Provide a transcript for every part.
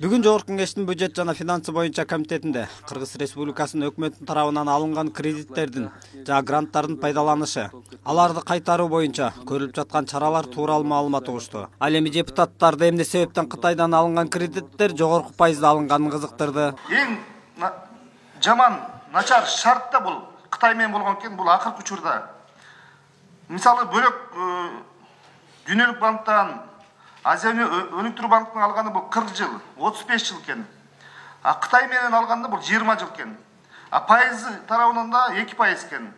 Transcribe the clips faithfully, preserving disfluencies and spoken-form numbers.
Бүгүн Жогорку Кеңештин бюджет жана финансы боюнча комитетинде Кыргыз Республикасынын өкмөтүнүн тарабынан алынган кредиттердин жана гранттардын пайдаланышы, аларды кайтаруу боюнча көрүлүп жаткан чаралар тууралуу маалымат угушту. Ал эми депутаттарды эмне себептен Кытайдан алынган кредиттер жогорку пайызда алынганын кызыктырды. Эң жаман, начар шарт да бул Кытай менен болгон экен, бул акыркы учурда. Мисалы бөлөк дүйнөлүк банктан Азия өнүктүрүү банкынан алганы бул кырк жыл, отуз беш жыл экен. А Кытай менен алганда бул жыйырма жыл экен. А пайызы тарабынан да эки пайыз экен.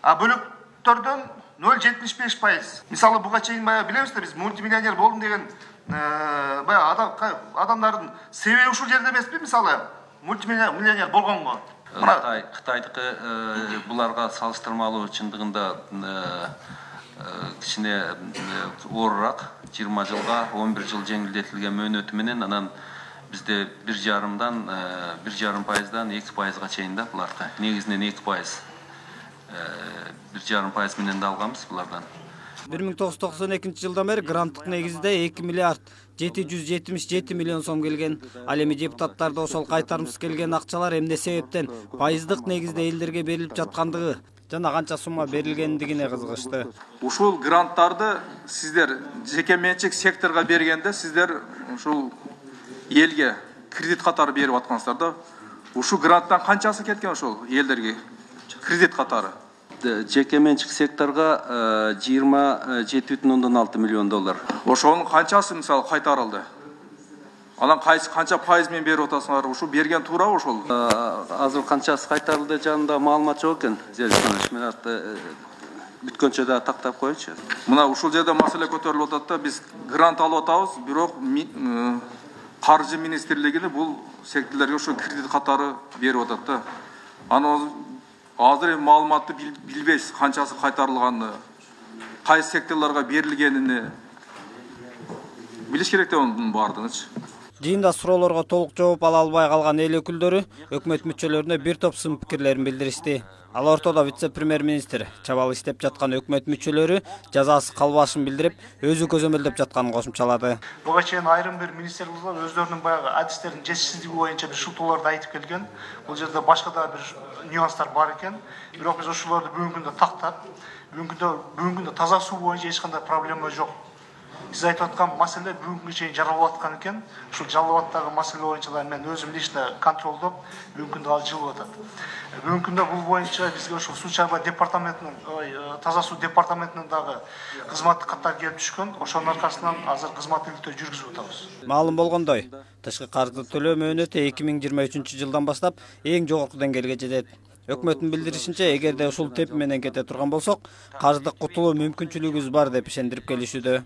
А бөлөктөрдөн нөл бүтүн жетимиш беш пайыз. Мисалы буга чейин баягы билебиз да, биз мультимиллионер болдум деген баягы адамдардын себеби ушул жерде эмеспи? Мисалы мультимиллионер болгонго. Кытай Кытайдыкы буларга салыштырмалуу чындыгында кичине оорураак, жыйырма жылга он бир жыл жеңилдетилген мөөнөтү менен, анан бизде бир жарымдан бир жарым пайыздан эки пайызга чейин да буларга. Негизинен эки пайыз. бир жарым пайыз менен да алганбыз булардан. бир миң тогуз жүз токсон экинчи жылдан бери гранттык негизде эки миллиард жети жүз жетимиш жети миллион сом келген. Ал эми депутаттарды ошол кайтарымсыз келген акчалар эмне себептен пайыздык негизде элдерге берилип жаткандыгы жана канча сумма берилгендигине кызыгышты. Ушул гранттарды сиздер жеке менчик секторго бергенде сиздер ушул элге кредит катары берип аткансыздар да. Ушул гранттан канчасы кеткен ошол элдерге кредит катары? Жеке менчик секторго жыйырма жети бүтүн ондон алты миллион доллар. Ошонун канчасы мисалы кайтарылды? Анан кайсы канча пайыз менен берип атасыңар? Ушу берген туурабы ошол? Азыр канчасы кайтарылды жагында маалымат жок экен. Мен бүткөнчө да тактап коелучу. Мына ушул жерде маселе көтөрүлүп атат да, биз грант алып атабыз, бирок каржы министрлигине бул секторлорго ошо кредит катары берип атат да. Анан азыр эми маалыматты билбейсиз, канчасы кайтарылганын, кайсы секторлорго берилгенин билиш керек да онун баардыгынчы. Жыйында суроолорго толук жооп ала албай калган эл өкүлдөрү өкмөт мүчөлөрүнө бир топ сын пикирлерин билдиришти. Ал ортодо вице-премьер-министр чабал иштеп жаткан өкмөт мүчөлөрү жазасы калбашын билдирип, өзү көзөмөлдөп жатканын кошумчалады. Буга чейин айрым бир министрликтер өздөрүнүн баягы адистеринин жетишсиздиги боюнча бир шылтоолорду айтып келген. Бул жерде башка да бир нюанстар бар экен. Бирок биз ошолорду бүгүнкү күндө тактап, бүгүнкү күндө бүгүнкү күндө таза суу боюнча эч кандай проблема жок. Сиз айтып аткан маселе бүгүнкү чейин жаралып аткан экен. Ушул жаралып аткан маселе боюнча да мен өзүм лично контролдоп, бүгүнкү күндө ал жылып атат. Бүгүнкү күндө бул боюнча бизге ошол суу чайгоо департаментинин, таза суу департаментинин дагы кызматтык каттар келип түшкөн. Ошонун аркасынан азыр кызмат иликтөө жүргүзүп атабыз. Маалым болгондой, тышкы каржы төлөө мөөнөтү эки миң жыйырма үчүнчү жылдан баштап эң жогорку деңгээлге жетет. Өкмөттүн билдиришинче, эгерде ушул теп менен кете турган болсок, каржылык кутулуу мүмкүнчүлүгүбүз бар деп ишендирип келишүүдө.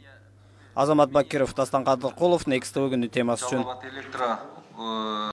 Азамат Бакиров, Дастан Кадыркулов, Next тэ вэ күнү темасы үчүн.